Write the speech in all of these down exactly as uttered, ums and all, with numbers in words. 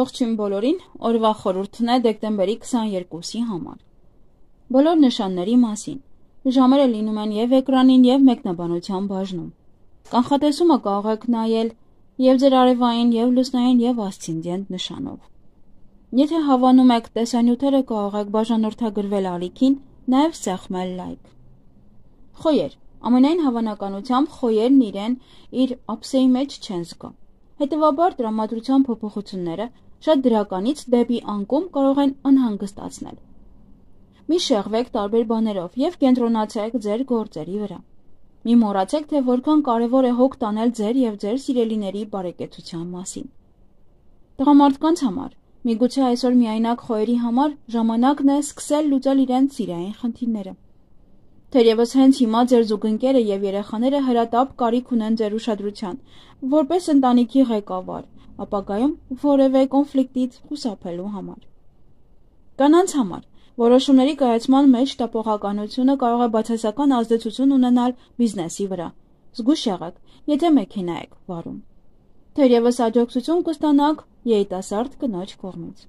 Ողջույն բոլորին, օրվա խորհուրդն է դեկտեմբերի քսաներկուսի համար։ Բոլոր նշանների մասին։ Ժամերը լինում են և էկրանին, և մեկնաբանության բաժնում։ Կանխատեսումը կարող եք նայել և ձեր արևային, և լուսնային, և ասցենդենտ նշանով։ Եթե հավանում եք տեսանյութերը, կարող եք բաժանորդագրվել ալիքին, նաև սեղմել լայք։ Խոյեր։ Ամենայն հավանականությամբ խոյերն իրեն իր ափսեի մեջ չեն զգա։ Հետևաբար տրամադրության փոփոխությունները շատ դրականից դեպի անկում կարող են անհանգստացնել։ Մի շեղվեք տարբեր բաներով և կենտրոնացեք ձեր գործերի վրա։ Մի մոռացեք, թե որքան կարևոր է հոգ տանել ձեր և ձեր սիրելիների բարեկեցության մասին։ Տղամարդկանց համար, միգուցե այսօր միայնակ խոյերի համար ժամանակն է սկսել լուծել իրենց սիրային խնդիրները։ Թերևս հենց հիմա ձեր զուգընկերը և երեխաները հրատապ կարիք ունեն ձեր ուշադրության, որպես ընտանիքի ղեկավար, ապագայում որևէ կոնֆլիկտից խուսափելու համար։ Կանանց համար որոշումների կայացման մեջ տապողականությունը կարող է բացասական ազդեցություն ունենալ բիզնեսի վրա։ Զգույշ եղեք, եթե մեքենա եք վարում։ Թերևս աջակցություն կստանաք երիտասարդ կնոջ կողմից։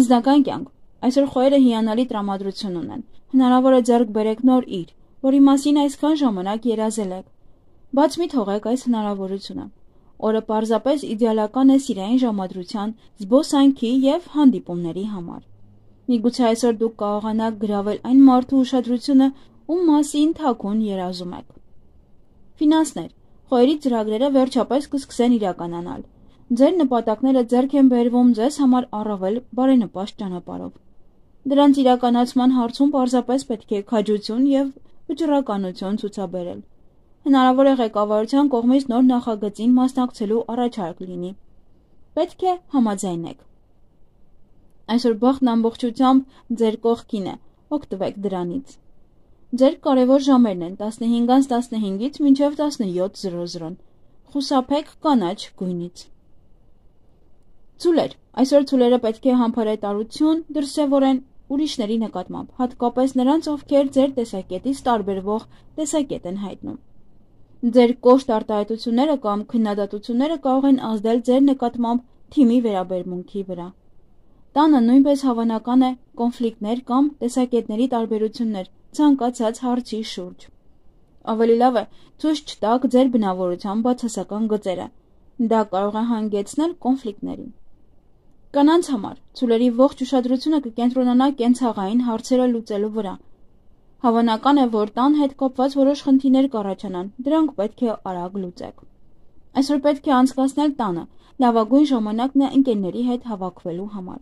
Անձնական կյանք։ Այսօր խոյերը հիանալի տրամադրություն ունեն։ Հնարավոր է ձեռք բերեք նոր իր, որի մասին այսքան ժամանակ երազել եք։ Բաց մի թողեք այս հնարավորությունը։ Օրը պարզապես իդեալական է սիրային ժամադրության, զբոսանքի և հանդիպումների համար։ Միգուցե այսօր դուք կարողանաք գրավել այն մարդու ուշադրությունը, ում մասին թաքուն երազում եք։ Ֆինանսներ։ Խոյերի ծրագրերը վերջապես կսկսեն իրականանալ։ Ձեր նպատակները ձեռք են բերվում ձեզ համար առավել բարենպաստ ճանապարհով։ Դրանց իրականացման հարցում պարզապես պետք է քաջություն և վճռականություն ցուցաբերել։ Հնարավոր է ղեկավարության կողմից նոր նախագծին մասնակցելու առաջարկ լինի։ Պետք է համաձայնեք։ Այսօր բախտն ամբողջությամբ ձեր կողքին է, օգտվեք դրանից։ Ձեր կարևոր ժամերն են տասնհինգից տասնհինգից մինչև տասնյոթ զրո զրո։ Խուսափեք կանաչ գույնից։ Ցուլեր։ Այսօր ցուլերը պետք է համբարետարություն դրսևորեն ուրիշների նկատմամբ, հատկապես նրանց, ովքեր ձեր տեսակետից տարբերվող տեսակետ են հայտնում։ Ձեր կոշտ արտահայտությունները կամ քննադատությունները կարող են ազդել ձեր նկատմամբ թիմի վերաբերմունքի վրա։ Տանը նույնպես հավանական է կոնֆլիկտներ կամ տեսակետների տարբերություններ ցանկացած հարցի շուրջ։ Ավելի լավ է ցույց չտաք ձեր բնավորության բացասական գծերը։ Դա կարող է հանգեցնել կոնֆլիկտների։ Կանանց համար ցուլերի ողջ ուշադրությունը կկենտրոնանա կենցաղային հարցերը լուծելու վրա։ Հավանական է, որ տան հետ կապված որոշ խնդիրներ կառաջանան, դրանք պետք է արագ լուծեք։ Այսօր պետք է անցկացնել տանը, լավագույն ժամանակն է ընկերների հետ հավաքվելու համար։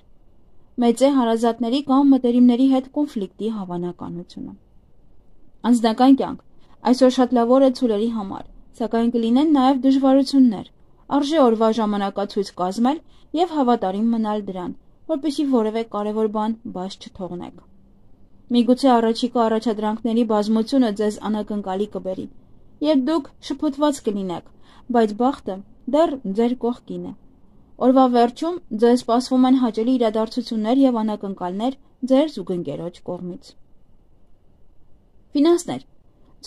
Մեծ է հարազատների կամ մտերիմների հետ կոնֆլիկտի հավանականությունը։ Անձնական կյանք։ Այսօր շատ լավ օր է ցուլերի համար, սակայն կլինեն նաև դժվարություններ։ Արժե օրվա ժամանակացույց կազմել և հավատարիմ մնալ դրան, որպեսզի որևէ կարևոր բան բաց չթողնեք։ Միգուցե առաջիկա առաջադրանքների բազմությունը ձեզ անակնկալի կբերի, և դուք շփոթված կլինեք, բայց բախտը դեռ ձեր կողքին է։ Օրվա վերջում ձեզ սպասվում են հաճելի իրադարձություններ և անակնկալներ ձեր զուգընկերոջ կողմից։ Ֆինանսներ։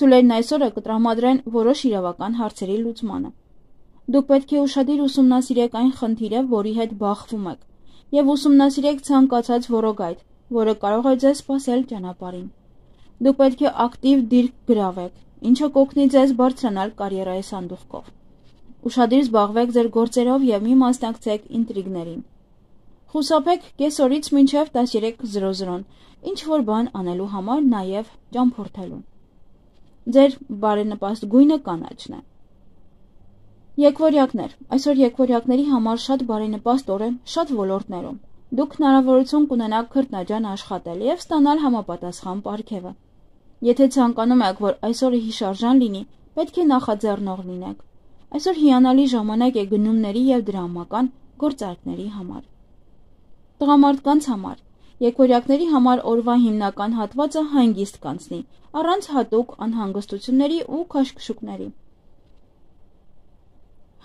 Ցուլերն այսօրը կտրամադրեն որոշ իրավական հարցերի լուծմանը։ Դուք պետք է ուշադիր ուսումնասիրեք այն խնդիրը, որի հետ բախվում եք, և ուսումնասիրեք ցանկացած որոգայթ, որը կարող է ձեզ սպասել ճանապարհին։ Դուք պետք է ակտիվ դիրք գրավեք, ինչը կօգնի ձեզ բարձրանալ կարիերայի սանդուղքով։ Ուշադիր զբաղվեք ձեր գործերով և մի մասնակցեք ինտրիգներին։ Խուսափեք կեսօրից մինչև տասներեք զրո զրոն ինչ-որ բան անելու համար, նաև ճամփորդելու։ Ձեր բարենպաստ գույնը կանաչն է։ Եկվորյակներ։ Այսօր եկվորյակների համար շատ բարենպաստ օր է շատ ոլորտներում։ Դուք հնարավորություն կունենաք քրտնաջան աշխատել և ստանալ համապատասխան պարգևը։ Եթե ցանկանում եք, որ այսօրը հիշարժան լինի, պետք է նախաձեռնող լինեք։ Այսօր հիանալի ժամանակ է գնումների և դրամական գործարքների համար։ Տղամարդկանց համար եկվորյակների համար օրվա հիմնական հատվածը հանգիստ կանցնի, առանց հատուկ անհանգստությունների ու քաշքշուկների։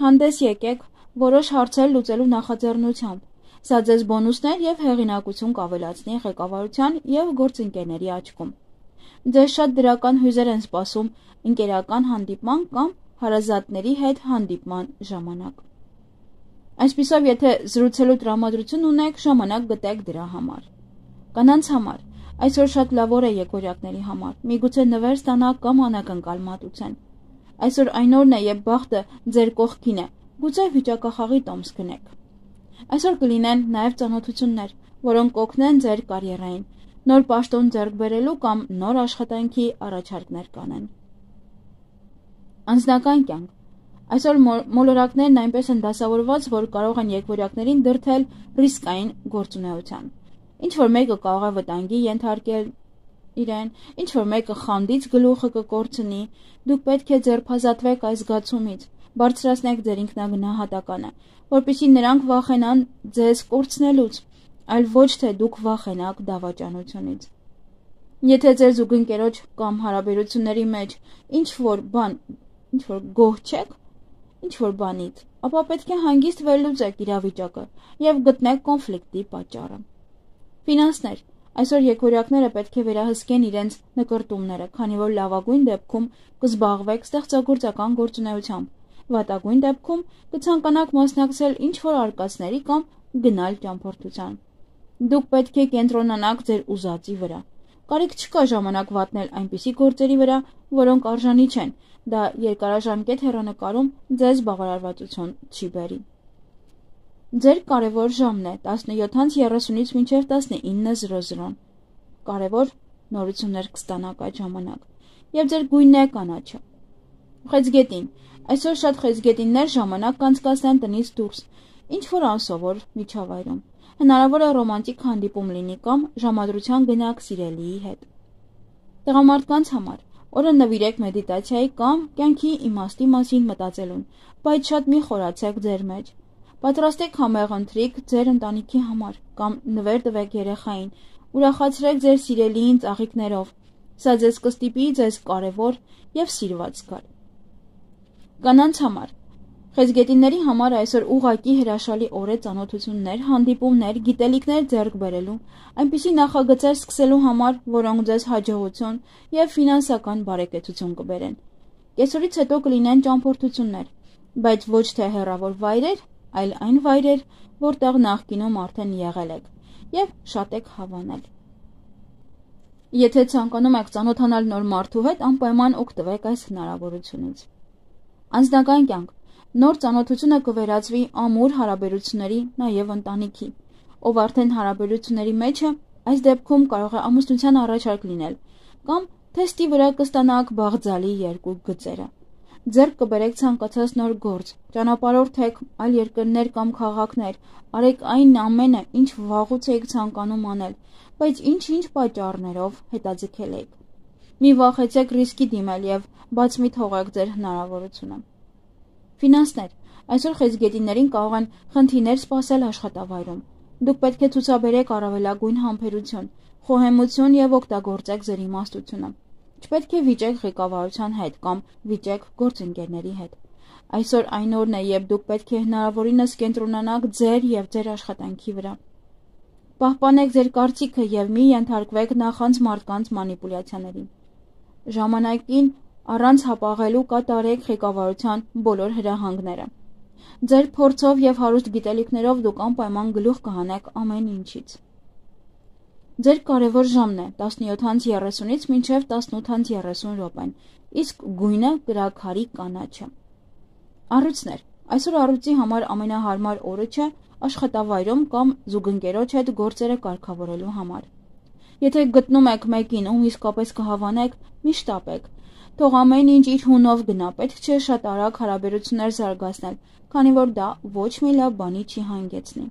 Հանդես եկեք որոշ հարցեր լուծելու նախաձեռնությամբ։ Սա ձեզ բոնուսներ և հեղինակություն կավելացնի ղեկավարության և գործընկերների աչքում։ Ձեզ շատ դրական հույզեր են սպասում ընկերական հանդիպման կամ հարազատների հետ հանդիպման ժամանակ։ Այսպիսով, եթե զրուցելու տրամադրություն ունեք, ժամանակ գտեք դրա համար։ Կանանց համար այսօր շատ լավ օր է եկօրյակների համար, միգուցե նվեր ստանաք կամ անակնկալ մատուցեն։ Այսօր այն օրն է, երբ բախտը ձեր կողքին է, գուցե վիճակախաղի տոմս գնեք։ Այսօր կլինեն նաև ծանոթություններ, որոնք կօգնեն ձեր կարիերային, նոր պաշտոն ձեռք բերելու կամ նոր աշխատանքի առաջարկներ կանեն։ Անձնական կյանք այսօր մոլորակներն այնպես են դասավորված, որ կարող են եկօրյակներին դրդել ռիսկային գործունեության։ Ինչ-որ մեկը կարող է վտանգի ենթարկել իրեն, ինչ-որ մեկը խանդից գլուխը կկորցնի, դուք պետք է ձերբազատվեք այս զգացումից, բարձրացնեք ձեր ինքնագնահատականը, որպեսզի նրանք վախենան ձեզ կորցնելուց, այլ ոչ թե դուք վախենաք դավաճանությունից։ Եթե ձեր զուգընկերոջ կամ հարաբերությունների մեջ ինչ-որ բան, ինչ-որ գոհ չեք, ինչ-որ բանից, ապա պետք է հանգիստ վերլուծեք իրավիճակը և գտնեք կոնֆլիկտի պատճառը։ Ֆինանսներ այսօր եկօրյակները պետք է վերահսկեն իրենց նկրտումները, քանի որ լավագույն դեպքում կզբաղվեք ստեղծագործական գործունեությամբ, վատագույն դեպքում կցանկանաք մասնակցել ինչ-որ արկածների կամ գնալ ճամփորդության։ Դուք պետք է կենտրոնանաք ձեր ուզածի վրա։ Կարիք չկա ժամանակ վատնել այնպիսի գործերի վրա, որոնք արժանի չեն, դա երկարաժամկետ հեռանկարում ձեզ բավարարվածություն չի բերի։ Ձեր կարևոր ժամն է տասնյոթից երեսունից մինչև տասնինը զրո զրո։ Կարևոր նորություններ կստանաք այդ ժամանակ, և ձեր գույնն է կանաչը։ Խեցգետին այսօր շատ խեցգետիններ ժամանակ կանցկացնեն տնից դուրս, ինչ-որ անսովոր միջավայրում։ Հնարավոր է ռոմանտիկ հանդիպում լինի կամ ժամադրության գնաք սիրելիի հետ։ Տղամարդկանց համար օրը նվիրեք մեդիտացիայի կամ կյանքի իմաստի մասին մտածելուն, բայց շատ մի խորացեք ձեր մեջ։ Պատրաստեք համեղ ընթրիք ձեր ընտանիքի համար կամ նվեր տվեք երեխային, ուրախացրեք ձեր սիրելիին ծաղիկներով։ Սա ձեզ կստիպի ձեզ կարևոր և սիրված զգալ։ Կանանց համար խեցգետինների համար այսօր ուղղակի հրաշալի օր է ծանոթություններ, հանդիպումներ, գիտելիքներ ձեռք բերելու, այնպիսի նախագծեր սկսելու համար, որոնք ձեզ հաջողություն և ֆինանսական բարեկեցություն կբերեն։ Կեսօրից հետո կլինեն ճամփորդություններ, բայց ոչ թե հեռավոր վայրեր, այլ այն վայրեր, որտեղ նախկինում արդեն եղել եք և շատ եք հավանել։ Եթե ցանկանում եք ծանոթանալ նոր մարդու հետ, անպայման օգտվեք այս հնարավորությունից։ Անձնական կյանք նոր ծանոթությունը կվերածվի ամուր հարաբերությունների, նաև ընտանիքի, ով արդեն հարաբերությունների մեջ է, այս դեպքում կարող է ամուսնության առաջարկ լինել, կամ թեստի վրա կստանաք բաղձալի երկու գծերը։ Ձեռք կբերեք ցանկացած նոր գործ, ճանապարհորդեք այլ երկրներ կամ քաղաքներ, արեք այն ամենը, ինչ վաղուց եք ցանկանում անել, բայց ինչ-ինչ պատճառներով հետաձգել եք։ Մի վախեցեք ռիսկի դիմել և բաց մի թողեք ձեր հնարավորությունը։ Ֆինանսներ այսօր խեցգետիններին կարող են խնդիրներ սպասել աշխատավայրում։ Դուք պետք է ցուցաբերեք առավելագույն համբերություն, խոհեմություն և օգտագործեք ձեր իմաստությունը։ Չպետք է վիճեք ղեկավարության հետ կամ վիճեք գործընկերների հետ։ Այսօր այն օրն է, երբ դուք պետք է հնարավորինս կենտրոնանաք ձեր և ձեր աշխատանքի վրա։ Պահպանեք ձեր կարծիքը և մի ենթարկվեք նախանց մարդկանց մանիպուլյացիաների։ Ժամանակին առանց հապաղելու կատարեք ղեկավարության բոլոր հրահանգները։ Ձեր փորձով և հարուստ գիտելիքներով դուք անպայման գլուխ կհանեք ամեն ինչից։ Ձեր կարևոր ժամն է տասնյոթից երեսունից մինչև տասնութից երեսուն րոպեն, իսկ գույնը կրաքարի կանաչը։ Առույցներ այսօր առույցի համար ամենահարմար օրը չէ աշխատավայրում կամ զուգընկերոջ հետ գործերը կարգավորելու համար։ Եթե գտնում եք մեկին, ում իսկապես կհավանեք, մի շտապեք։ Թող ամեն ինչ իր հունով գնա, պետք չէ շատ արագ հարաբերություններ զարգացնել, քանի որ դա ոչ մի լավ բանի չի հանգեցնի։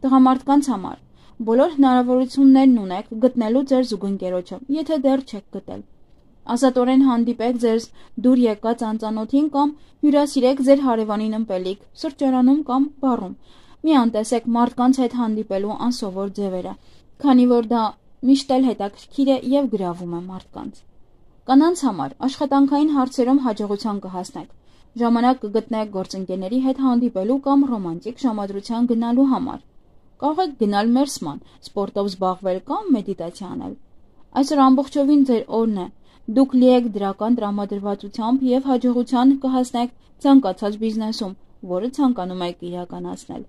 Տղամարդկանց համար բոլոր հնարավորություններն ունեք գտնելու ձեր զուգընկերոջը, եթե դեռ չեք գտել։ Ազատորեն հանդիպեք ձեզ դուր եկած անծանոթին կամ հյուրասիրեք ձեր հարևանին ըմպելիք, սրճարանում կամ բառում։ Մի անտեսեք մարդկանց հետ հանդիպելու անսովոր ձևերը, քանի որ դա միշտ էլ հետաքրքիր է և գրավում է մարդկանց։ Կանանց համար աշխատանքային հարցերում հաջողության կհասնեք։ Ժամանակ կգտնեք գործընկերների հետ հանդիպելու կամ ռոմանտիկ ժամադրության գնալու համար։ Կարող եք գնալ մերսման, սպորտով զբաղվել կամ մեդիտացիա անել։ Այսօր ամբողջովին ձեր օրն է։ Դուք լի եք դրական տրամադրվածությամբ և հաջողության կհասնեք ցանկացած բիզնեսում, որը ցանկանում եք իրականացնել։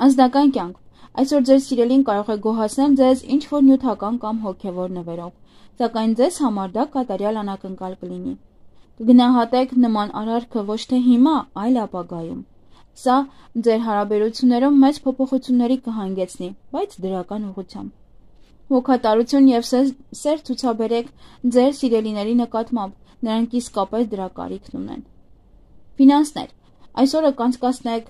Անձնական կյանք։ Այսօր ձեր սիրելին կարող է գոհացնել ձեզ ինչ-որ նյութական կամ հոգևոր նվերով, սակայն ձեզ համար դա կատարյալ անակնկալ կլինի։ Կգնահատեք նման արարքը ոչ թե հիմա, այլ ապագայում։ Սա ձեր հարաբերություններում մեծ փոփոխությունների կհանգեցնի, բայց դրական ուղղությամբ։ Հոգատարություն եւ սեր ցուցաբերեք ձեր սիրելիների նկատմամբ, նրանք իսկապես դրա կարիքն ունեն։ Ֆինանսներ։ Այսօրը կանցկացնեք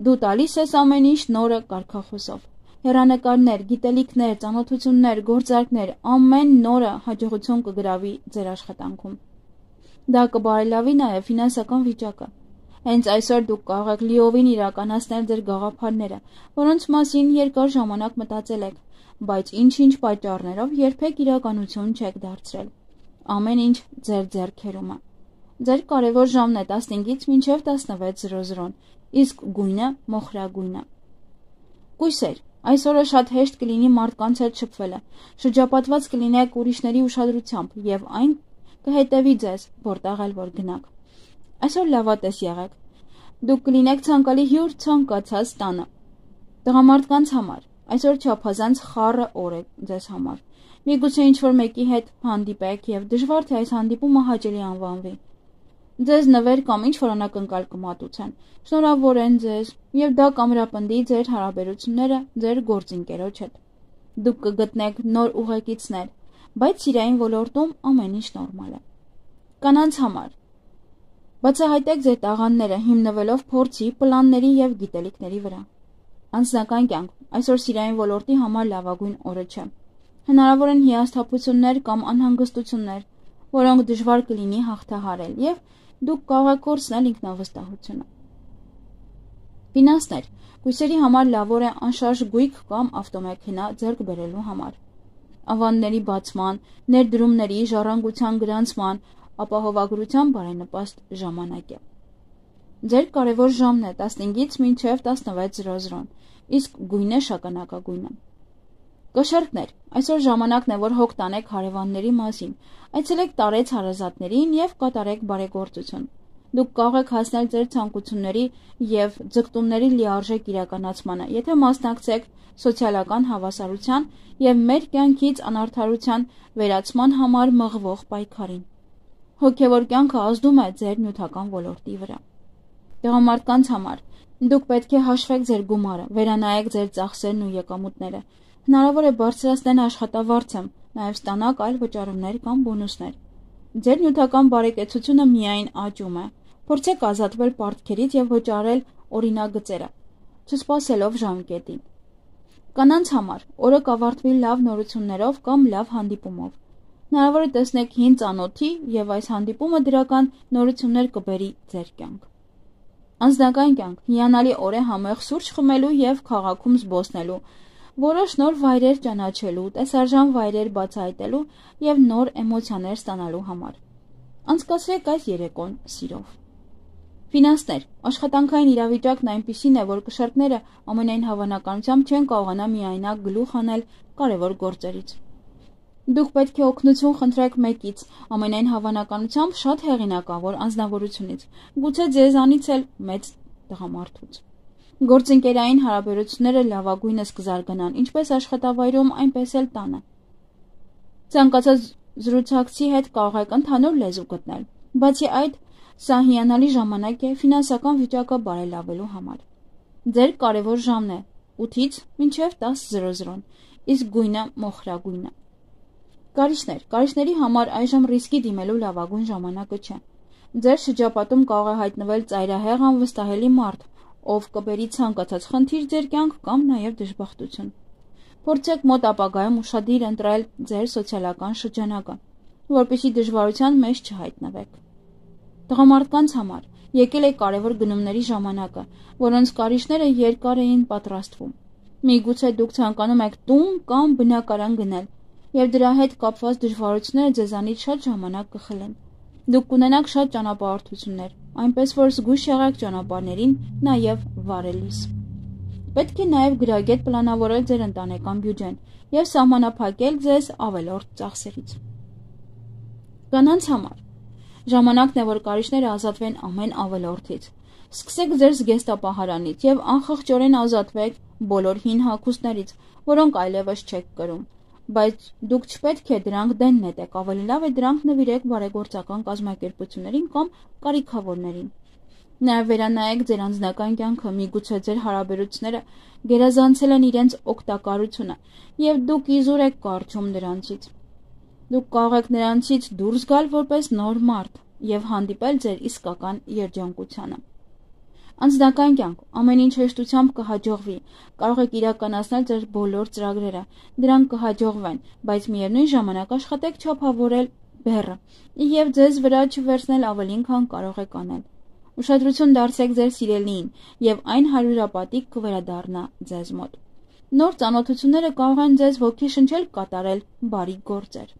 դու տալիս ես ամեն ինչ նորը կարգախոսով։ Հեռանկարներ, գիտելիքներ, ծանոթություններ, գործարքներ, ամեն նորը հաջողություն կգրավի ձեր աշխատանքում։ Դա կբարելավի նաև ֆինանսական վիճակը։ Հենց այսօր դուք կարող եք լիովին իրականացնել ձեր գաղափարները, որոնց մասին երկար ժամանակ մտածել եք, բայց ինչ-ինչ պատճառներով երբեք իրականություն չեք դարձրել։ Ամեն ինչ ձեր ձեռքերում է։ Ձեր կարևոր ժամն է տասնհինգից մինչև տասնվեց, իսկ գույնը մոխրագույն է։ Կույսեր, այսօրը շատ հեշտ կլինի մարդկանց հետ շփվելը, շրջապատված կլինեք ուրիշների ուշադրությամբ եւ այն կհետևի ձեզ, որտեղ էլ որ գնաք։ Այսօր լավատես եղեք։ Դուք կլինեք ցանկալի հյուր ցանկացած տանը։ Տղամարդկանց համար այսօր չափազանց խառը օր է ձեզ համար։ Միգուցե ինչ-որ մեկի հետ հանդիպեք եւ դժվար թե այս հանդիպումը հաճելի անվանվի։ Ձեզ նվեր կամ ինչ-որ անակնկալ կմատուցեն, շնորհավորեն ձեզ եւ դա կամրապնդի ձեր հարաբերությունները ձեր գործընկերոջ հետ։ Դուք կգտնեք նոր ուղեկիցներ, բայց սիրային ոլորտում ամեն ինչ նորմալ է։ Կանանց համար բացահայտեք ձեր տաղանդները հիմնվելով փորձի, պլանների եւ գիտելիքների վրա։ Անձնական կյանք այսօր սիրային ոլորտի համար լավագույն օրը չէ։ Հնարավոր են հիասթափություններ կամ անհանգստություններ, որոնք դժվար կլինի հաղթահարել եւ դուք կարող եք կորցնել ինքնավստահությունը։ Ֆինանսներ կույսերի համար լավ օր է անշարժ գույք կամ ավտոմեքենա ձեռք բերելու համար։ Ավանդների բացման, ներդրումների, ժառանգության գրանցման, ապահովագրության բարենպաստ ժամանակ է։ Ձեր կարևոր ժամն է տասնհինգից մինչև տասնվեց, իսկ գույնը շագանակագույնը։ Կշեռքներ, այսօր ժամանակն է, որ հոգ տանեք հարևանների մասին, այցելեք տարեց հարազատներին եւ կատարեք բարեգործություն։ Դուք կարող եք հասնել ձեր ցանկությունների եւ ձգտումների լիարժեք իրականացմանը, եթե մասնակցեք սոցիալական հավասարության եւ մեր կյանքից անարդարության վերացման համար մղվող պայքարին։ Հոգեվոր կյանքը ազդում է ձեր նյութական ոլորտի վրա։ Տղամարդկանց համար դուք պետք է հաշվեք ձեր գումարը, վերանայեք ձեր ծախսերն ու եկամուտները։ Հնարավոր է բարձրացնել աշխատավարձը, նաև ստանաք այլ վճարումներ կամ բոնուսներ։ Ձեր նյութական բարեկեցությունը միայն աճում է։ Փորձեք ազատվել պարտքերից եւ վճարել օրինագծերը, չսպասելով ժամկետին։ Կանանց համար օրը կավարտվի լավ նորություններով կամ լավ հանդիպումով։ Հնարավոր է տեսնեք հին ծանոթի եւ այս հանդիպումը դրական նորություններ կբերի ձեր կյանք։ Անձնական կյանք հիանալի օր է համեղ սուրճ խմելու եւ քաղաքում զբոսնելու, որոշ նոր վայրեր ճանաչելու, տեսարժան վայրեր բացահայտելու եւ նոր էմոցիաներ ստանալու համար։ Անցկացրեք այս երեկոն սիրով։ Ֆինանսներ, աշխատանքային իրավիճակն այնպիսին է, որ կշեռքները ամենայն հավանականությամբ չեն կարողանա միայնակ գլուխ հանել կարևոր գործերից։ Դուք պետք է օգնություն խնդրեք մեկից, ամենայն հավանականությամբ շատ հեղինակավոր անձնավորությունից, գուցե ձեզանից էլ մեծ տղամարդուց։ Գործընկերային հարաբերությունները լավագույնս կզարգանան, ինչպես աշխատավայրում, այնպես էլ տանը։ Ցանկացած զրուցակցի հետ կարող եք ընդհանուր լեզու գտնել։ Բացի այդ, սա հիանալի ժամանակ է ֆինանսական վիճակը բարելավելու համար։ Ձեր կարևոր ժամն է ութից մինչև տասը, իսկ գույնը մոխրագույնը։ Կարիճներ, կարիճների համար այժմ ռիսկի դիմելու լավագույն ժամանակը չէ։ Ձեր շրջապատում կարող է հայտնվել ծայրահեղ անվստահելի մարդ, ով կբերի ցանկացած խնդիր ձեր կյանք կամ նաև դժբախտություն։ Փորձեք մոտ ապագայում ուշադիր ընտրել ձեր սոցիալական շրջանակը, որպեսզի դժվարության մեջ չհայտնվեք։ Տղամարդկանց համար եկել է կարևոր գնումների ժամանակը, որոնց կարիճները երկար էին պատրաստվում։ Միգուցե դուք ցանկանում եք տուն կամ բնակարան գնել, եւ դրա հետ կապված դժվարությունները ձեզանից շատ ժամանակ կխլեն։ Դուք կունենաք շատ ճանապարհորդություններ, այնպես որ զգույշ եղեք ճանապարհներին, նաև վարելիս։ Պետք է նաև գրագետ պլանավորել ձեր ընտանեկան բյուջեն եւ սահմանափակել ձեզ ավելորդ ծախսերից։ Կանանց համար ժամանակն է, որ կարիճները ազատվեն ամեն ավելորդից։ Սկսեք ձեր զգեստապահարանից եւ անխղճորեն ազատվեք բոլոր հին հագուստներից, որոնք այլևս չեք կրում, բայց դուք չպետք է դրանք դեն նետեք, ավելի լավ է դրանք նվիրեք բարեգործական կազմակերպություններին կամ կարիքավորներին։ Նաև վերանայեք ձեր անձնական կյանքը, միգուցե ձեր հարաբերությունները գերազանցել են իրենց օգտակարությունը եւ դուք իզուր եք կարճում դրանցից։ Դուք կարող եք նրանցից դուրս գալ որպես նոր մարդ եւ հանդիպել ձեր իսկական երջանկությանը։ Անձնական կյանք ամեն ինչ հեշտությամբ կհաջողվի, կարող եք իրականացնել ձեր բոլոր ծրագրերը, դրանք կհաջողվեն, բայց միևնույն ժամանակ աշխատեք չափավորել բեռը եւ ձեզ վրա չվերցնել ավելին, քան կարող եք անել։ Ուշադրություն դարձրեք ձեր սիրելիին եւ այն հարյուրապատիկ կվերադառնա ձեզ մոտ։ Նոր ծանոթությունները կարող են ձեզ ոգեշնչել կատարել բարի գործեր։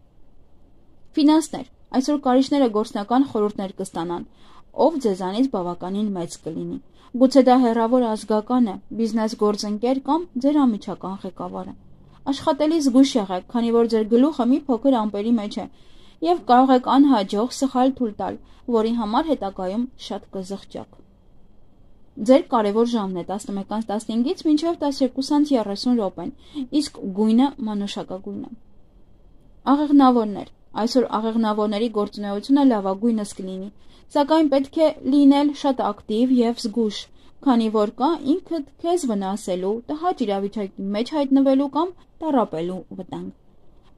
Ֆինանսներ։ Այսօր կարիչները գործնական խորհուրդներ կստանան, ով ձեզանից բավականին մեծ կլինի։ Գուցե դա հեռավոր ազգական է, բիզնես գործընկեր կամ ձեր անմիջական ղեկավարը։ Աշխատելի զգույշ եղեք, քանի որ ձեր գլուխը մի փոքր ամպերի մեջ է եւ կարող եք անհաջող սխալ թույլ տալ, որի համար հետագայում շատ կզղջաք։ Ձեր կարևոր ժամն է տասնմեկից տասնհինգից մինչև տասներկուսից երեսուն րոպեն, իսկ գույնը մանուշակագույն է։ Աղեղնավորներ։ Այսօր աղեղնավորների գործունեությունը լավագույնս կլինի, սակայն պետք է լինել շատ ակտիվ եւ զգույշ, քանի որ կա ինքդ քեզ վնասելու, տհաճ իրավիճակի մեջ հայտնվելու կամ տառապելու վտանգ։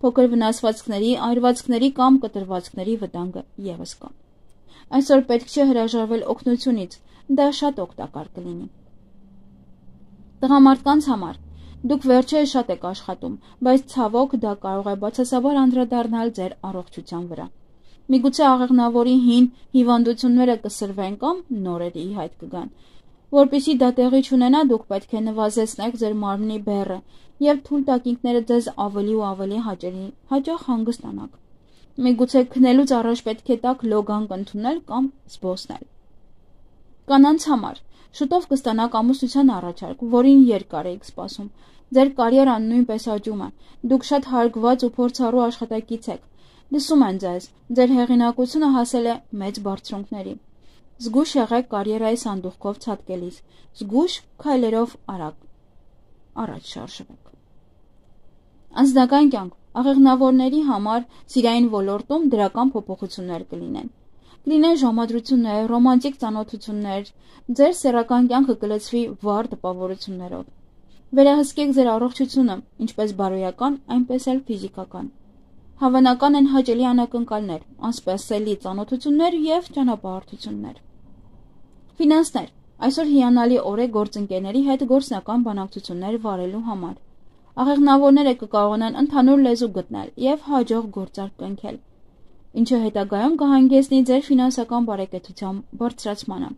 Փոքր վնասվածքների, այրվածքների կամ կտրվածքների վտանգը եւս կա։ Այսօր պետք չէ հրաժարվել օգնությունից, դա շատ օգտակար կլինի։ Տղամարդկանց համար դուք վերջերս շատ եք աշխատում, բայց ցավոք դա կարող է բացասաբար անդրադառնալ ձեր առողջության վրա։ Միգուցե աղեղնավորի հին հիվանդությունները կսրվեն կամ նորերը ի հայտ կգան։ Որպեսզի դա տեղի չունենա, դուք պետք է նվազեցնեք ձեր մարմնի բեռը եւ թույլ տաք ինքներդ ձեզ ավելի ու ավելի հաճելի հաճախ հանգստանաք։ Միգուցե քնելուց առաջ պետք է տաք լոգանք ընդունել կամ զբոսնել։ Կանանց համար շուտով կստանաք ամուսնության առաջարկ, որին երկար եք սպասում։ Ձեր կարիերան նույնպես աճում է։ Դուք շատ հարգված ու փորձառու աշխատակից եք։ Լսում են ձեզ, ձեր հեղինակությունը հասել է մեծ բարձրունքների։ Զգույշ եղեք կարիերայի սանդուղքով ցատկելիս, զգույշ քայլերով արագ առաջ շարժվեք։ Անձնական կյանք աղեղնավորների համար սիրային ոլորտում դրական փոփոխություններ կլինեն։ Կլինեն ժամադրություններ, ռոմանտիկ ծանոթություններ, ձեր սեռական կյանքը կլցվի վառ տպավորություններով։ Վերահսկեք ձեր առողջությունը, ինչպես բարոյական, այնպես էլ ֆիզիկական։ Հավանական են հաճելի անակնկալներ, անսպասելի ծանոթություններ եւ ճանապարհորդություններ։ Ֆինանսներ։ Այսօր հիանալի օր է գործընկերների հետ գործնական բանակցություններ վարելու համար։ Աղեղնավորները կկարողանան ընդհանուր լեզու գտնել եւ հաջող գործարք կնքել, ինչը հետագայում կհանգեցնի ձեր ֆինանսական բարեկեցության բարձրացմանը։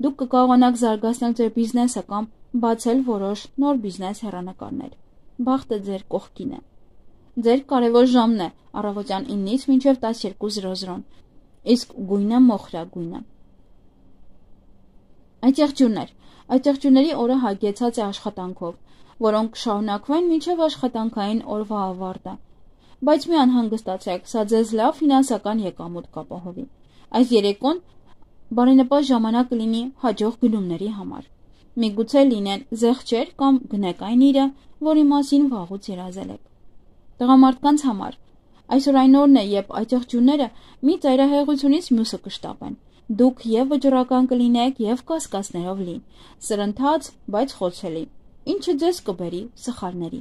Դուք կկարողանաք զարգացնել ձեր բիզնեսը կամ բացել որոշ նոր բիզնես հեռանկարներ։ Բախտը ձեր կողքին է։ Ձեր կարևոր ժամն է առավոտյան ինից մինչև տասներկու զրո զրոն, իսկ գույնը մոխրագույնը։ Այծեղջյուրներ։ Այծեղջյուրների օրը հագեցած է աշխատանքով, որոնք կշարունակվեն մինչև աշխատանքային օրվա ավարտը։ Բայց մի անհանգստացեք, սա ձեզ լավ ֆինանսական եկամուտ կապահովի։ Այս երեկոն բարենպաստ ժամանակ կլինի հաջող գնումների համար։ Միգուցե լինեն զեղչեր կամ գնեք այն իրը, որի մասին վաղուց երազել եք։ Տղամարդկանց համար այսօր այն օրն է, երբ այծեղջյուրները մի ծայրահեղությունից մյուսը կշտապեն։ Դուք եւ վճռական կլինեք եւ կասկածներով լի, սրընթաց, բայց խոցելի, ինչը ձեզ կբերի սխալների։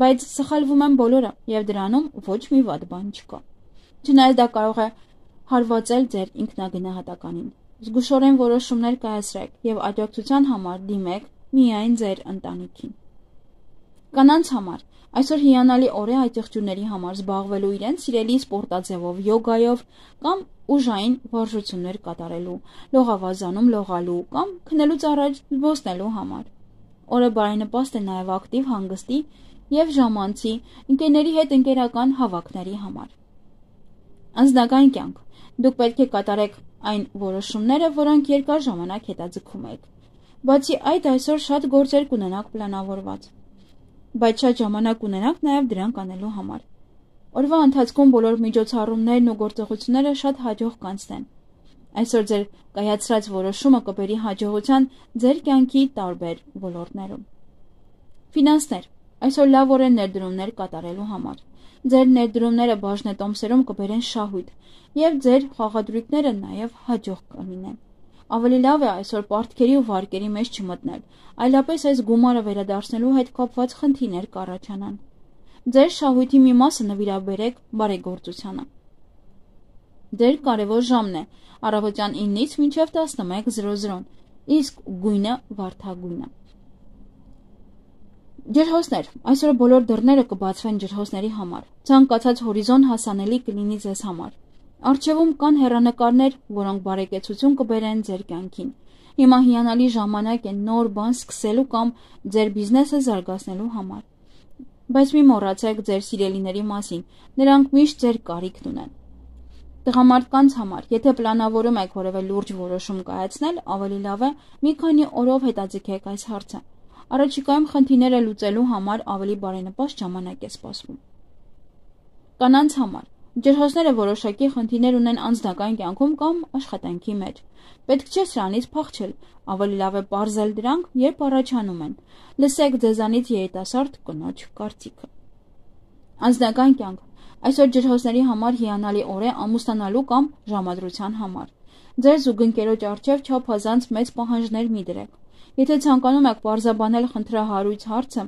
Բայց սխալվում են բոլորը եւ դրանում ոչ մի վատ բան չկա։ Չնայած դա կարող է հարվածել ձեր ինքնագնահատականին։ Զգուշորեն որոշումներ կայացրեք եւ աջակցության համար դիմեք միայն ձեր ընտանիքին։ Կանանց համար այսօր հիանալի օր է այծեղջյուրների համար զբաղվելու իրենց սիրելի սպորտաձևով, յոգայով կամ ուժային վարժություններ կատարելու, լողավազանում լողալու կամ քնելուց առաջ զբոսնելու համար։ Օրը բարենպաստ է նաև ակտիվ հանգստի եւ ժամանցի ընկերների հետ ընկերական հավաքների համար։ Անձնական կյանք։ Դուք պետք է կատարեք այն որոշումները, որոնք երկար ժամանակ հետաձգում եք։ Բացի այդ, այսօր շատ գործեր կունենաք պլանավորված, բայց շատ ժամանակ ունենաք նաև դրանք անելու համար։ Օրվա ընթացքում բոլոր միջոցառումներն ու գործողությունները շատ հաջող կանցնեն։ Այսօր ձեր կայացրած որոշումը կբերի հաջողության ձեր կյանքի տարբեր ոլորտներում։ Ֆինանսներ։ Այսօր լավ օր է ներդրումներ կատարելու համար։ Ձեր ներդրումները բաժնետոմսերում կբերեն շահույթ և ձեր խաղադրույքները նաև հաջող կլինեն։ Ավելի լավ է այսօր պարտքերի ու վարկերի մեջ չմտնել, այլապես այս գումարը վերադարձնելու հետ կապված խնդիրներ կառաջանան։ Ձեր շահույթի մի մասը նվիրաբերեք բարեգործությանը։ Ձեր կարևոր ժամն է առավոտյան ինից մինչև տասնմեկ զրո զրո, իսկ գույնը վարդագույնը։ Ջրհոսներ։ Այսօր բոլոր դռները կբացվեն ջրհոսների համար։ Ցանկացած հորիզոն հասանելի կլինի ձեզ համար։ Առջևում կան հեռանկարներ, որոնք բարեկեցություն կբերեն ձեր կյանքին։ Հիմա հիանալի ժամանակ է նոր բան սկսելու կամ ձեր բիզնեսը զարգացնելու համար։ Բայց մի մոռացեք ձեր սիրելիների մասին, նրանք միշտ ձեր կարիքն ունեն։ Տղամարդկանց համար, եթե պլանավորում եք որևէ լուրջ որոշում կայացնել, ավելի լավ է մի քանի օրով հետաձգեք այս հարցը։ Առաջիկայում խնդիրները լուծելու համար ավելի բարենպաստ ժամանակ է սպասվում։ Կանանց համար ջրհոսները որոշակի խնդիրներ ունեն անձնական կյանքում կամ աշխատանքի մեջ։ Պետք չէ սրանից փախչել, ավելի լավ է պարզել դրանք, երբ առաջանում են։ Լսեք ձեզանից երիտասարդ կնոջ կարծիքը։ Անձնական կյանք։ Այսօր ջրհոսների համար հիանալի օր է ամուսնանալու կամ ժամադրության համար։ Ձեր զուգընկերոջ առջև չափազանց մեծ պահանջներ մի դրեք։ Եթե ցանկանում եք պարզաբանել խնդրահարույց հարցը,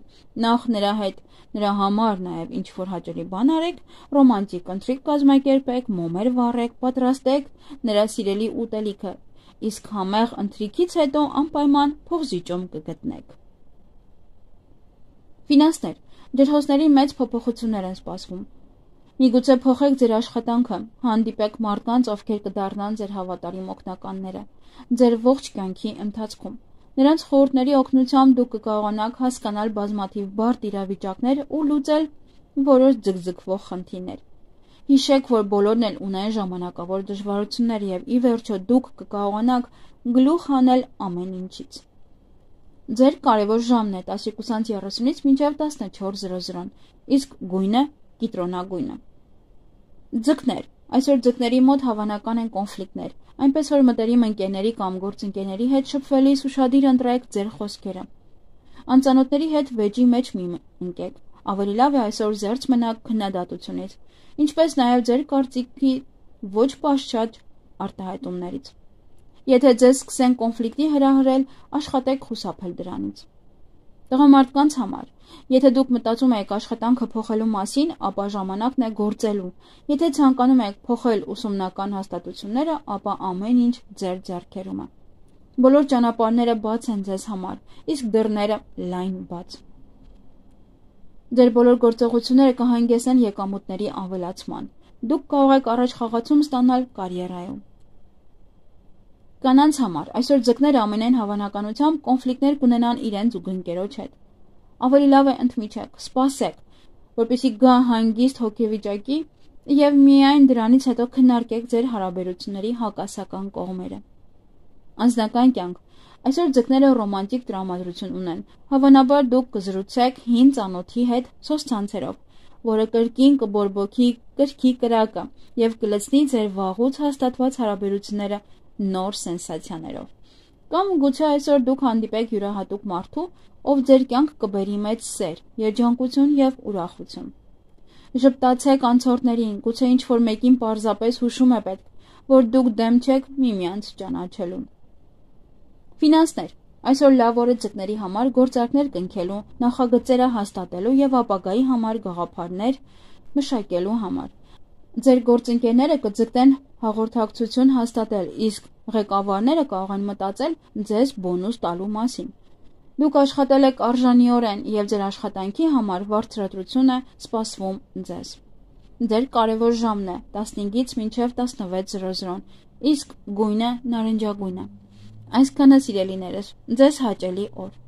նախ նրա հետ նրա համար նաև ինչ-որ հաճելի բան արեք, ռոմանտիկ ընթրիք կազմակերպեք, մոմեր վառեք, պատրաստեք նրա սիրելի ուտելիքը, իսկ համեղ ընթրիքից հետո անպայման փողզիջում կգտնեք։ Ֆինանսներ։ Ջրհոսների մեծ փոփոխություններ են սպասվում։ Միգուցե փոխեք ձեր աշխատանքը, հանդիպեք մարդկանց, ովքեր կդառնան ձեր հավատարիմ օգնականները, ձեր ողջ կյանքի ընթացքում։ Նրանց խորհուրդների օգնությամբ դուք կկարողանաք հասկանալ բազմաթիվ բարդ իրավիճակներ ու լուծել որոշ ձգձգվող խնդիրներ։ Հիշեք, որ բոլորն էլ ունեն ժամանակավոր դժվարություններ և ի վերջո դուք կկարողանաք գլուխ հանել ամեն ինչից։ Ձեր կարևոր ժամն է տասնյոթ երեսունից մինչև տասնչորս զրո զրո, իսկ գույնը կիտրոնագույնը։ Ձկներ։ Այսօր ձկների մոտ հավանական են կոնֆլիկտներ, այնպես որ մտերիմ ընկերների կամ գործընկերների հետ շփվելիս ուշադիր ընտրեք ձեր խոսքերը։ Անծանոթների հետ վեճի մեջ մի ընկեք, ավելի լավ է այսօր զերծ մնաք քննադատությունից, ինչպես նաև ձեր կարծիքի ոչ պատշաճ արտահայտումներից։ Եթե ձեզ սկսեն կոնֆլիկտի հրահրել, աշխատեք խուսափել դրանից։ Տղամարդկանց համար, եթե դուք մտածում եք աշխատանքը փոխելու մասին, ապա ժամանակն է գործելու։ Եթե ցանկանում եք փոխել ուսումնական հաստատությունները, ապա ամեն ինչ ձեր ձեռքերում է։ Բոլոր ճանապարհները բաց են ձեզ համար, իսկ դռները լայն բաց։ Ձեր բոլոր գործողությունները կհանգեցնեն եկամուտների ավելացման։ Դուք կարող եք առաջ խաղացում ստանալ կարիերայում։ Կանանց համար այսօր ձկները ամենայն հավանականությամբ կոնֆլիկտներ կունենան իրենց զուգընկերոջ հետ։ Ավելի լավ է ընդմիջեք, սպասեք, որպեսզի գա հանգիստ հոգեվիճակի և միայն դրանից հետո քննարկեք ձեր հարաբերությունների հակասական կողմերը։ Անձնական կյանք։ Այսօր ձկները ռոմանտիկ տրամադրություն ունեն։ Հավանաբար դուք կզրուցեք հին ծանոթի հետ սոցցանցերով, որը կրկին կբորբոքի կրքի կրակը և կլցնի ձեր վաղուց հաստատված հարաբերությունները նոր սենսացիաներով։ Կամ գուցե այսօր դուք հանդիպեք յուրահատուկ մարդու, ով ձեր կյանք կբերի մեծ սեր, երջանկություն և ուրախություն։ Ժպտացեք անցորդներին, գուցե ինչ-որ մեկին պարզապես հուշում է պետք, որ դուք դեմ չեք միմյանց ճանաչելուն։ Ֆինանսներ։ Այսօր լավ օր է ձկների համար գործարքներ կնքելու, նախագծերը հաստատելու և ապագայի համար գաղափարներ մշակելու համար։ Ձեր գործընկերները կձգտեն հաղորդակցություն հաստատել, իսկ ղեկավարները կարող են մտածել ձեզ բոնուս տալու մասին։ Դուք աշխատել եք արժանիորեն և ձեր աշխատանքի համար վարձատրություն է սպասվում ձեզ։ Ձեր կարևոր ժամն է տասնհինգից մինչև տասնվեց զրո զրո, իսկ գույնը նարնջագույն է։ Այսքանը սիրելիներս, ձեզ հաճելի օր։